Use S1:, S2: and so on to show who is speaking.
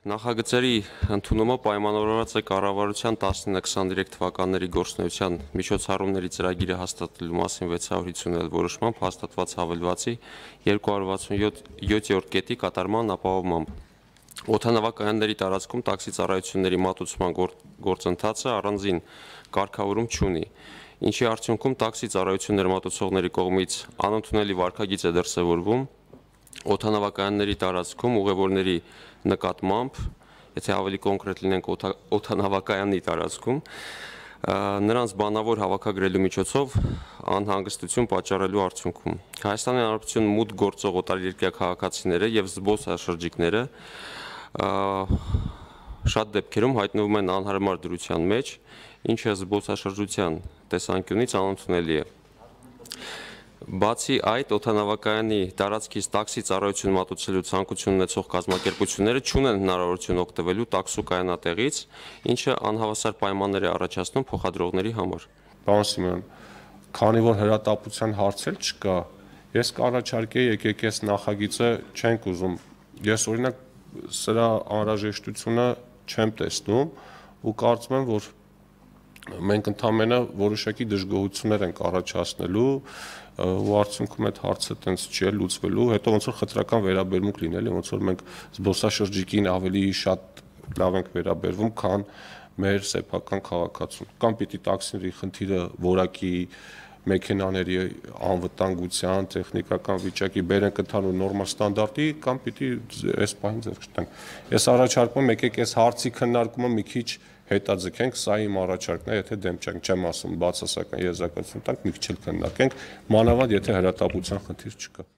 S1: Նախագծերի ընդունումը պայմանավորված է կառավարության 19-23 թվականների գործունեության միջոցառումների ծրագիրը հաստատելու մասին 650 որոշմամբ հաստատված հավելվածի 267-րդ կետի կատարման ապահովմամբ։ Օդանավակայանների տարածքում տաքսի ծառայությունների մատուցման գործընթացը առանձին կարգավորում չունի, ինչի արդյունքում տաքսի ծառայություններ մատուցողների կողմից անընդունելի վարքագիծ է դրսևորվում օդանավակայանների տարածքում ուղևորների նկատմամբ, եթե ավելի կոնկրետ լինենք օդանավակայանի տարածքում, նրանց բանավոր հավաքագրելու միջոցով անհանգստություն պատճառելու արդյունքում։ Հայաստանի Հանրապետություն մուտք գործող օտարերկրյա քաղաքացիները եւ զբոսաշրջիկները շատ դեպքերում հայտնվում են անհարմար դրության մեջ, ինչը զբոսաշրջության տեսանկյունից անընդունելի է։ Բացի այդ, օդանավակայանի տարածքից տաքսի ծառայություն մատուցելու ցանկություն ունեցող կազմակերպությունները չունեն հնարավորություն օգտվելու տաքսու կայանատեղից, ինչը անհավասար պայմաններ է առաջացնում փոխադրողների համար։
S2: Պարոն Սիմոնյան, քանի որ հրատապության հարցեր չկա, ես կառաջարկեի եկեք այս նախագիծը չենք ուզում։ Ես օրինակ սրա անհրաժեշտությունը չեմ տեսնում ու կարծում եմ, որ մենք ընդհանրապես որոշակի դժգոհություններ ենք առաջացնելու ու արդյունքում այդ հարցը տենց չի լուծվելու, հետո ոնց որ խտրական վերաբերմունք լինելի, ոնց որ մենք զբոսաշրջիկին ավելի շատ լավ ենք վերաբերվում, քան մեր սեփական քաղաքացուն։ Կամ պիտի տաքսիների խնդիրը որակի մեքենաների անվտանգության, տեխնիկական վիճակի բերենք ընդհանուր նորմալ ստանդարտի, կամ պիտի այս պահին ձեռք չտանք։ Ես առաջարկում եմ եկեք այս հարցի քննարկումը մի քիչ հետաձգենք, սա իմ առաջարկն է, եթե դեմ չեմ ասում բացասական եզրակացություն տանք, մի քիչ էլ քննարկենք, մանավանդ եթե հրատապության խնդիր չկա։